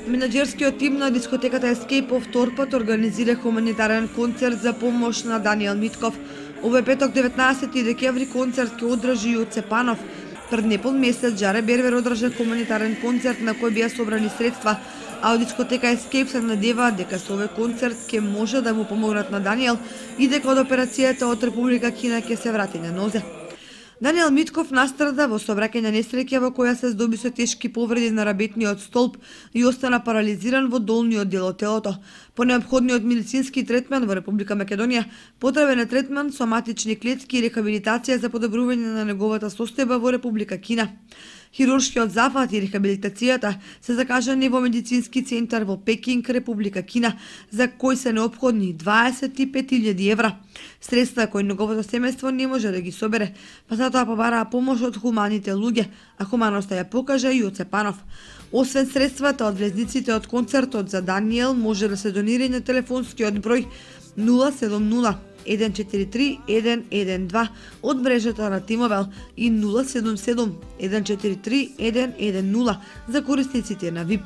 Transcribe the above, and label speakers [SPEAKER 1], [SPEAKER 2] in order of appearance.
[SPEAKER 1] Менаџерскиот тим на дискотеката Escape по втор пат организира хуманитарен концерт за помош на Даниел Митков. Овој петок 19 декември концерт ќе одржи Јоце Панов. Пред непол месец Џаре Бербер одржа хуманитарен концерт на кој беа собрани средства, а од дискотека Escape се надеваат дека со овој концерт ќе може да му помогнат на Даниел и дека од операцијата од Република Кина ќе се врати на нозе. Даниел Митков настрада во сообраќајна несреќа во која се здоби со тешки повреди на рабетниот столб и остана парализиран во долниот дел од телото. По неопходниот медицински третман во Република Македонија, потребен е третман, соматични клетки и рехабилитација за подобрување на неговата состојба во Република Кина. Хируршкиот зафат и рехабилитацијата се закажани во медицински центар во Пекинг, Република Кина, за кој се неопходни 25.000 евра. Средства кои неговото семејство не може да ги собере, па затоа побараа помош од хуманите луѓе, а хуманоста ја покажа и Јоце Панов. Освен средствата од влезниците од концертот за Даниел, може да се донира на телефонскиот број 070 143 112 од мрежата на Тимовел и 077 143 110 за корисниците на VIP.